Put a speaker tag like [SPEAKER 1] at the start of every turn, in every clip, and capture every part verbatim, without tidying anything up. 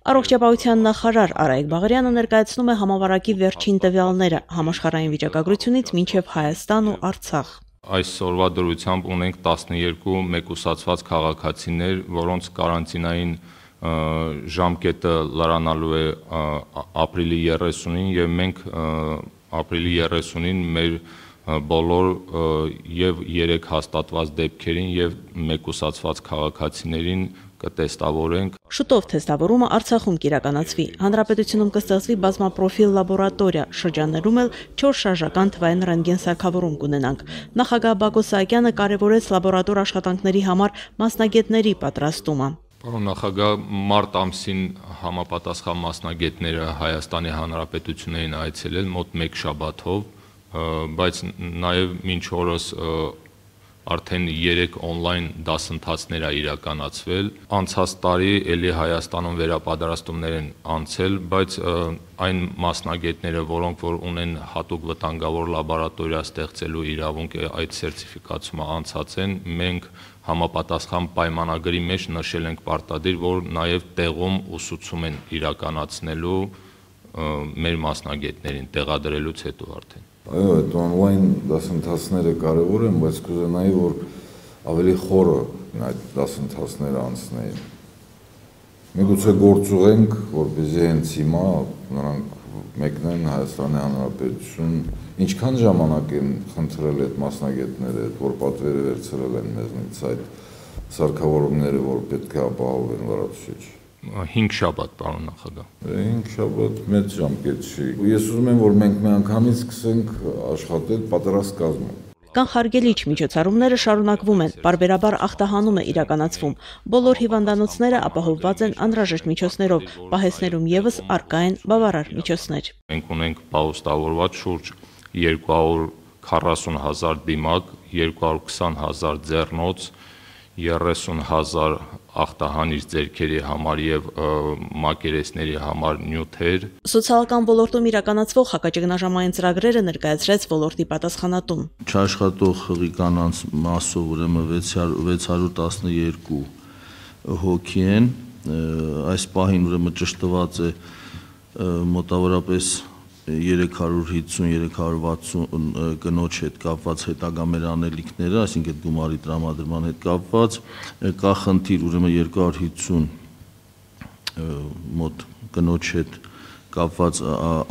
[SPEAKER 1] Առողջապահության նախարար Արայիկ Բաղարյանը ներկայացնում է համավարակի վերջին տվյալները համաշխարհային վիճակագրությունից մինչև Հայաստան ու Արցախ։
[SPEAKER 2] Այսօրվա դրությամբ ունենք տասնյոթ մեկուսացված քաղաքացիներ, որոնց կարանտինային ժամկետը լրանալու է ապրիլի երեսունին եւ մենք ապրիլի երեսունին մեր բոլոր եւ երեք հաստատված դեպքերին եւ մեկուսացված քաղաքացիներին կտեստավորենք։
[SPEAKER 1] Շուտով թեստավորումը Արցախում կիրականացվի։ Հանրապետությունում կստեղծվի բազմապրոֆիլ լաբորատորիա, շրջաններում էլ չորս շարժական թվային ռենտգեն սարքավորում կունենանք։ Նախագահ Բակո Սահակյանը կարևորեց լաբորատոր աշխատանքների համար մասնագետների պատրաստումը։
[SPEAKER 2] Պարոն նախագահ, մարտ ամսին համապատասխան մասնագետները Հայաստանի Հանրապետությունն էին այցելել մոտ մեկ շաբաթով, բայց նաև մինչ օրս արդեն երեք օնլայն դասընթացներ է իրականացվել։ Անցած տարի էլի Հայաստանում վերապատրաստումներ են անցել, բայց այն մասնագետները, որոնք որ ունեն հատուկ վտանգավոր լաբորատորիա ստեղծելու իրավունք, այդ սերտիֆիկացումը անցած են, մենք համապատասխան պայմանագրի մեջ նշել ենք պարտադիր, որ նաև տեղում ուսուցում են իրականացնելու մեր մասնագետներին տեղադրելուց հետո արդեն։
[SPEAKER 3] Այո, այդ օնլայն դասընթացները կարևոր են, բայց կուզենայի, որ ավելի խորը այդ դասընթացները անցնեին։ Միգուցե գործուղենք, որպեսզի հենց հիմա նրանք մեկնեն Հայաստանի Հանրապետություն, ինչքան ժամանակ են խնդրել այդ մասնագետները, որ պատվերը վերցրել են մեզնից այդ սարքավորումները, որ պետք է ապահովեն լրացուցիչ։
[SPEAKER 2] Հինգ շաբաթ, պարոն նախագահ։
[SPEAKER 3] Հինգ շաբաթ մեծ ժամկետ չի։ Ես ուզում եմ, որ մենք միանգամից սկսենք աշխատել պատրաստ կազմում։
[SPEAKER 1] Կանխարգելիչ միջոցառումները շարունակվում են, պարբերաբար ախտահանում է իրականացվում։ Բոլոր հիվանդանոցները ապահովված են անհրաժեշտ միջոցներով, պահեստներում ևս առկա են բավարար միջոցներ։
[SPEAKER 2] Մենք ունենք պահոստավորված շուրջ երկու հարյուր քառասուն հազար դիմակ, երկու հարյուր քսան հազար ձեռնոց, երեսուն հազար ախտահանիչ ձեռքերի համար եւ մակերեսների համար նյութեր։
[SPEAKER 1] Սոցիալական ոլորտում իրականացվող հակաճգնաժամային ծրագրերը ներկայացրեց ոլորտի պատասխանատուն։
[SPEAKER 4] Չաշխատող խղի կանանց մասով ուրեմն վեց հարյուր տասնյոթ հոգի են, այս պահին ուրեմն ճշտված է մոտավորապես երեք հարյուր հիսուն երեք հարյուր վաթսուն կնոջ հետ կապված հետագա մեր անելիքները, այսինքն գումարի տրամադրման հետ կապված, կա խնդիր ուրեմն երկու հարյուր հիսուն մոտ կնոջ հետ կապված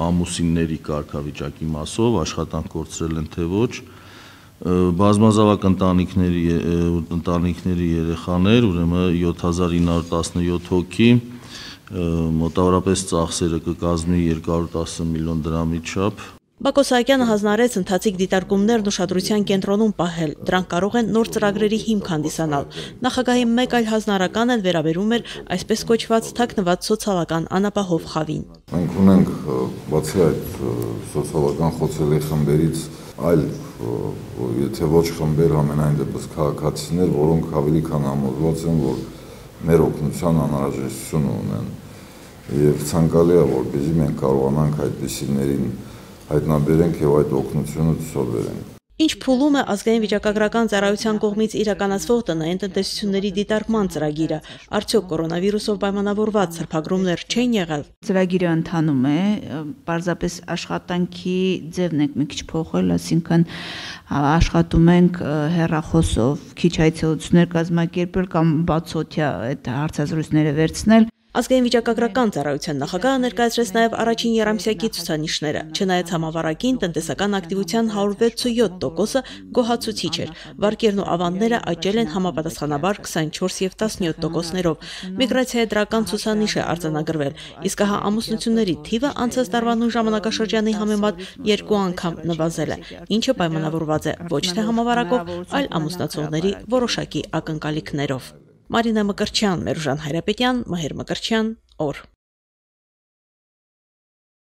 [SPEAKER 4] ամուսինների կարգավիճակի մասով, աշխատանք կորցրել են թե ոչ, բազմազավակ ընտանիքների ընտանիքների երեխաներ, ուրեմն յոթ հազար ինը հարյուր տասնյոթ հոգի, մոտավորապես ծախսերը կկազմի երկու հարյուր տասը միլիոն դրամի չափ։
[SPEAKER 1] Բակո Սահակյանը հանձնարարեց ընթացիկ դիտարկումներն ուշադրության կենտրոնում պահել, դրանք կարող են նոր ծրագրերի հիմք հանդիսանալ։ Նախագահի մեկ այլ հանձնարարական էլ վերաբերում էր այսպես կոչված թաքնված սոցիալական անապահով խավին։
[SPEAKER 3] Մենք ունենք բացի այդ սոցիալական խոցելի խմբերից այլ, եթե ոչ խմբեր, ամենայն դեպս քաղաքացիներ, որոնք ավելի քան համոզված են, որ մեր օգնության անհրաժեշտություն ունեն եւ ցանկալի է, որպեսզի մենք կարողանանք այդպիսիներին հայտնաբերենք եւ այդ օգնությունը ցուցաբերենք։
[SPEAKER 1] Ինչ փուլում է ազգային վիճակագրական ծառայության կողմից իրականացվող տնային տնտեսությունների դիտարկման ծրագիրը, արդյոք կորոնավիրուսով պայմանավորված սրբագրումներ չեն եղել։
[SPEAKER 5] Ծրագիրը ընթանում է, պարզապես աշխատանքի ձևն ենք մի քիչ փոխել, այսինքն աշխատում ենք հեռախոսով, քիչ այցելություններ կազմակերպել կամ բացօթյա այդ հարցազրույցները վերցնել։
[SPEAKER 1] Ազգային վիճակագրական ծառայության նախագահը ներկայացրեց նաև առաջին եռամսյակի ցուցանիշները, չնայած համավարակին տնտեսական ակտիվության հարյուր վեցույոթ տոկոսը գոհացուցիչ էր, վարկերն ու ավանդները աճել են համապատասխանաբար քսանչորս եւ տասնյոթ տոկոսներով, միգրացիայի դրական ցուցանիշ է արձանագրվել, իսկ հա ամուսնությունների թիվը անցած տարվա նույն ժամանակաշրջանի համեմատ երկու անգամ նվազել է, ինչը պայմանավորված է ոչ թե համավարակով, այլ ամուսնացողների որոշակի ակնկալիքներով։ Մարինա Մկրտչյան, Մերուժան Հայրապետյան, Մհեր Մկրտչյան, օր։